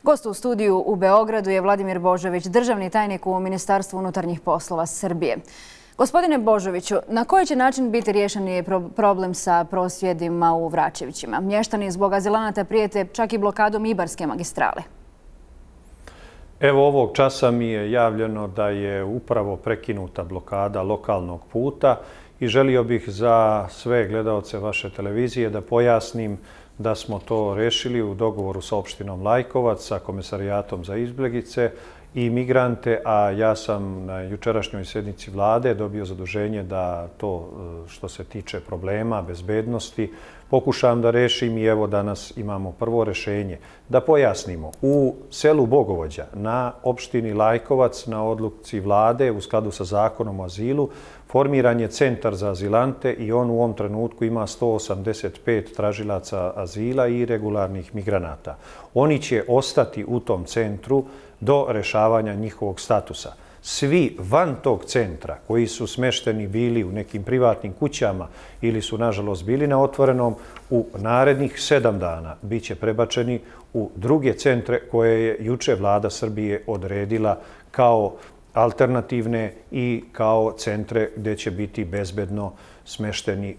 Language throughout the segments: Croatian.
Gost u studiju u Beogradu je Vladimir Božović, državni tajnik u Ministarstvu unutarnjih poslova Srbije. Gospodine Božoviću, na koji će način biti riješen problem sa prosvjedima u Vračevićima? Mještani zbog azilanata prijete čak i blokadom Ibarske magistrale. Evo ovog časa mi je javljeno da je upravo prekinuta blokada lokalnog puta i želio bih za sve gledaoce vaše televizije da pojasnim da smo to rešili u dogovoru sa opštinom Lajkovac, sa Komesarijatom za izbjeglice i migrante, a ja sam na jučerašnjoj sjednici vlade dobio zaduženje da to što se tiče problema, bezbednosti, pokušam da rešim i evo danas imamo prvo rešenje. Da pojasnimo, u selu Bogovođa na opštini Lajkovac na odluci vlade u skladu sa zakonom o azilu formiran je centar za azilante i on u ovom trenutku ima 185 tražilaca azila i regularnih migranata. Oni će ostati u tom centru do rešavanja njihovog statusa. Svi van tog centra koji su smešteni bili u nekim privatnim kućama ili su nažalost bili na otvorenom, u narednih 7 dana bit će prebačeni u druge centre koje je juče vlada Srbije odredila kao alternativne i kao centre gdje će biti bezbedno smešteni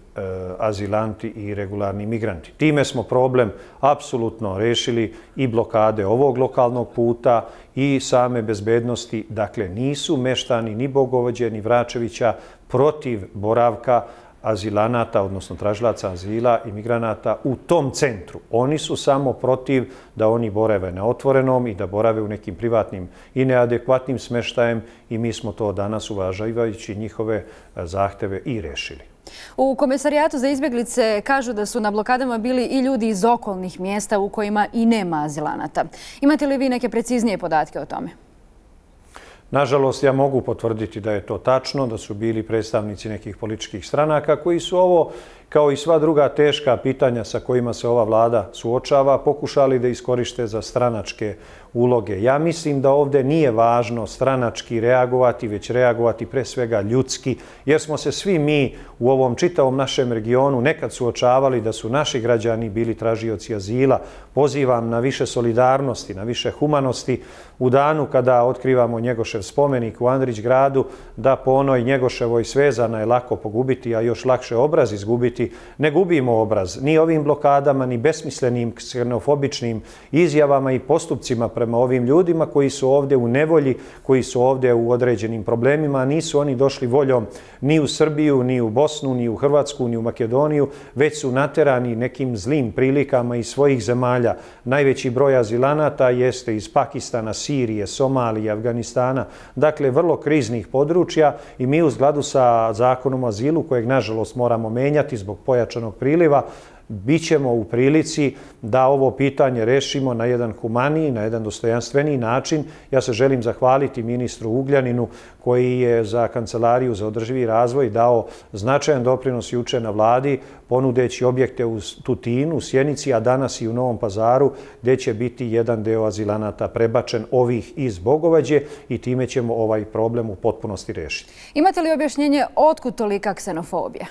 azilanti i regularni migranti. Time smo problem apsolutno rešili i blokade ovog lokalnog puta i same bezbednosti. Dakle, nisu meštani ni Bogovođe ni Vračevića protiv boravka azilanata, odnosno tražilaca azila i migranata u tom centru. Oni su samo protiv da oni borave na otvorenom i da borave u nekim privatnim i neadekvatnim smeštajem i mi smo to danas, uvažavajući njihove zahteve, i rešili. U Komesarijatu za izbjeglice kažu da su na blokadama bili i ljudi iz okolnih mjesta u kojima i nema azilanata. Imate li vi neke preciznije podatke o tome? Nažalost, ja mogu potvrditi da je to tačno, da su bili predstavnici nekih političkih stranaka koji su ovo, kao i sva druga teška pitanja sa kojima se ova vlada suočava, pokušali da iskoriste za stranačke uloge. Ja mislim da ovdje nije važno stranački reagovati, već reagovati pre svega ljudski, jer smo se svi mi u ovom čitavom našem regionu nekad suočavali da su naši građani bili tražioci azila. Pozivam na više solidarnosti, na više humanosti u danu kada otkrivamo Njegošev spomenik u Andrić gradu, da po onoj Njegoševoj svezana je lako pogubiti, a još lakše obraz izgubiti. Ne gubimo obraz ni ovim blokadama, ni besmislenim ksenofobičnim izjavama i postupcima prema ovim ljudima koji su ovdje u nevolji, koji su ovdje u određenim problemima. Nisu oni došli voljom ni u Srbiju, ni u Bosnu, ni u Hrvatsku, ni u Makedoniju, već su naterani nekim zlim prilikama iz svojih zemalja. Najveći broj azilanata jeste iz Pakistana, Sirije, Somalije, Afganistana, dakle vrlo kriznih područja i mi u skladu sa zakonom o azilu, kojeg nažalost moramo menjati zbog pojačanog priliva, bit ćemo u prilici da ovo pitanje rešimo na jedan humaniji, na jedan dostojanstveniji način. Ja se želim zahvaliti ministru Ugljaninu koji je za Kancelariju za održivi razvoj dao značajan doprinos juče na vladi, ponudeći objekte u Tutinu, Sjenici, a danas i u Novom Pazaru, gdje će biti jedan deo azilanata prebačen, ovih iz Bogovađe, i time ćemo ovaj problem u potpunosti rešiti. Imate li objašnjenje otkud tolika ksenofobija?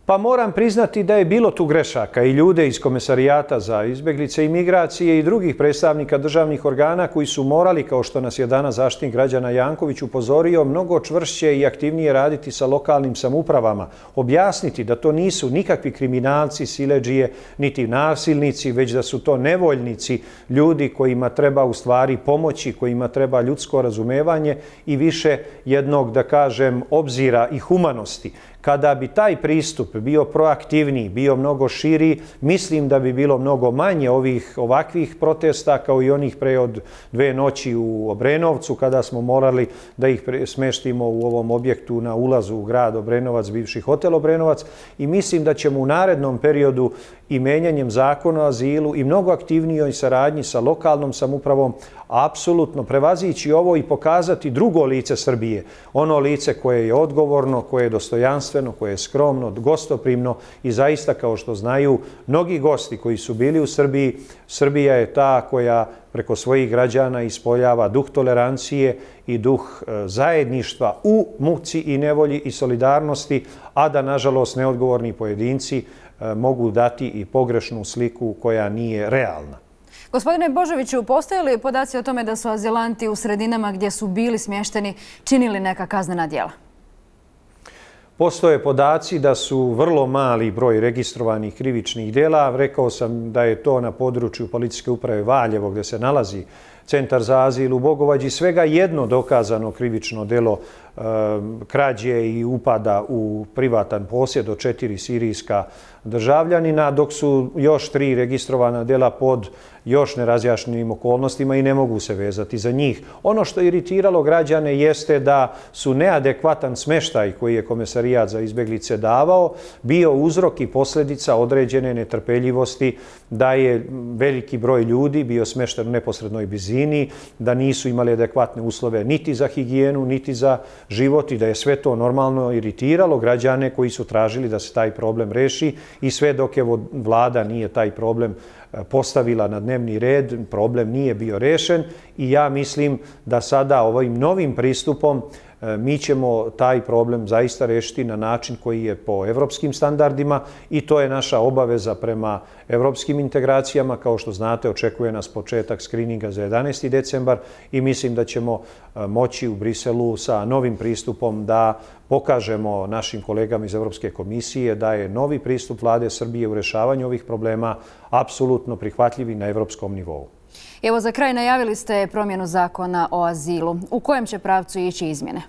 Pa moram priznati da je bilo tu grešaka i ljude iz Komesarijata za izbjeglice i migracije i drugih predstavnika državnih organa koji su morali, kao što nas je danas Zaštitnik građana Janković upozorio, mnogo čvršće i aktivnije raditi sa lokalnim samoupravama. Objasniti da to nisu nikakvi kriminalci, siledžije, niti nasilnici, već da su to nevoljnici, ljudi kojima treba u stvari pomoći, kojima treba ljudsko razumevanje i više jednog, da kažem, obzira i humanosti. Kada bi taj pristup bio proaktivniji, bio mnogo širi, mislim da bi bilo mnogo manje ovakvih protesta kao i onih pre od 2 noći u Obrenovcu, kada smo morali da ih smeštimo u ovom objektu na ulazu u grad Obrenovac, bivši hotel Obrenovac, i mislim da ćemo u narednom periodu i menjanjem zakona o azilu i mnogo aktivnijoj saradnji sa lokalnom samoupravom apsolutno prevazići ovo i pokazati drugo lice Srbije. Ono lice koje je odgovorno, koje je dostojanstveno, koje je skromno, gostoprimno i zaista, kao što znaju mnogi gosti koji su bili u Srbiji, Srbija je ta koja preko svojih građana ispoljava duh tolerancije i duh zajedništva u muci i nevolji i solidarnosti, a da, nažalost, neodgovorni pojedinci mogu dati i pogrešnu sliku koja nije realna. Gospodine Božoviću, postoje li podaci o tome da su azilanti u sredinama gdje su bili smješteni činili neka kaznena djela? Postoje podaci da su vrlo mali broj registrovanih krivičnih djela. Rekao sam da je to na području Policijske uprave Valjevo gdje se nalazi Centar za azil u Bogovađi svega jedno dokazano krivično djelo krađe i upada u privatan posjed od 4 sirijska državljanina, dok su još 3 registrovana djela pod još nerazjašnjenim okolnostima i ne mogu se vezati za njih. Ono što je iritiralo građane jeste da su neadekvatan smještaj koji je Komesarijat za izbjeglice davao bio uzrok i posljedica određene netrpeljivosti, da je veliki broj ljudi bio smješten u neposrednoj blizini, da nisu imali adekvatne uslove niti za higijenu, niti za život i da je sve to normalno iritiralo građane koji su tražili da se taj problem reši i sve dok je vlada nije taj problem postavila na dnevni red, problem nije bio rešen i ja mislim da sada ovim novim pristupom mi ćemo taj problem zaista rešiti na način koji je po evropskim standardima i to je naša obaveza prema evropskim integracijama. Kao što znate, očekuje nas početak skrininga za 11. decembar i mislim da ćemo moći u Briselu sa novim pristupom da pokažemo našim kolegama iz Evropske komisije da je novi pristup vlade Srbije u rešavanju ovih problema apsolutno prihvatljiv i na evropskom nivou. Evo, za kraj najavili ste promjenu zakona o azilu. U kojem će pravcu ići izmjene?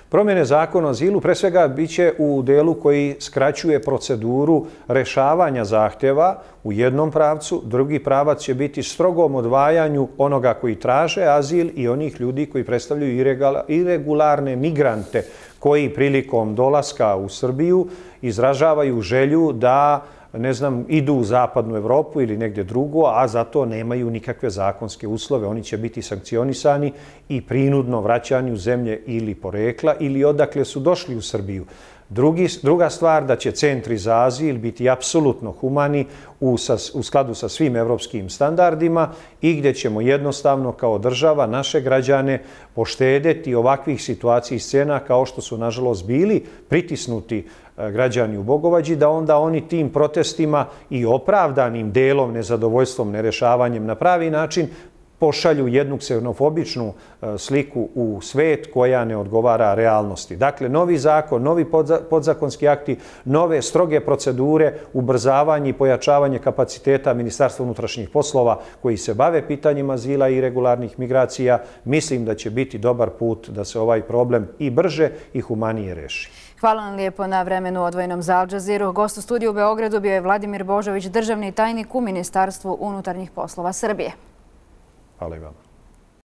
Promjene zakona o azilu pre svega biće u delu koji skraćuje proceduru rešavanja zahtjeva u jednom pravcu. Drugi pravac će biti strogom odvajanju onoga koji traže azil i onih ljudi koji predstavljaju iregularne migrante koji prilikom dolaska u Srbiju izražavaju želju da idu u zapadnu Evropu ili negdje drugo, a za to nemaju nikakve zakonske uslove. Oni će biti sankcionisani i prinudno vraćani u zemlje ili porekla ili odakle su došli u Srbiju. Druga stvar, da će centri za azil biti apsolutno humani u skladu sa svim evropskim standardima i gdje ćemo jednostavno kao država naše građane poštedjeti ovakvih situacija i scena kao što su nažalost bili pritisnuti građani u Bogovađi, da onda oni tim protestima i opravdanim delom nezadovoljstvom, nerešavanjem na pravi način pošalju jednu ksenofobičnu sliku u svet koja ne odgovara realnosti. Dakle, novi zakon, novi podzakonski akti, nove stroge procedure, ubrzavanje i pojačavanje kapaciteta Ministarstva unutrašnjih poslova koji se bave pitanjima azila i regularnih migracija, mislim da će biti dobar put da se ovaj problem i brže i humanije reši. Hvala vam lijepo na vremenu odvojenom za Al Jazeera. Gost u studiju u Beogradu bio je Vladimir Božović, državni tajnik u Ministarstvu unutarnjih poslova Srbije. Hvala i vama.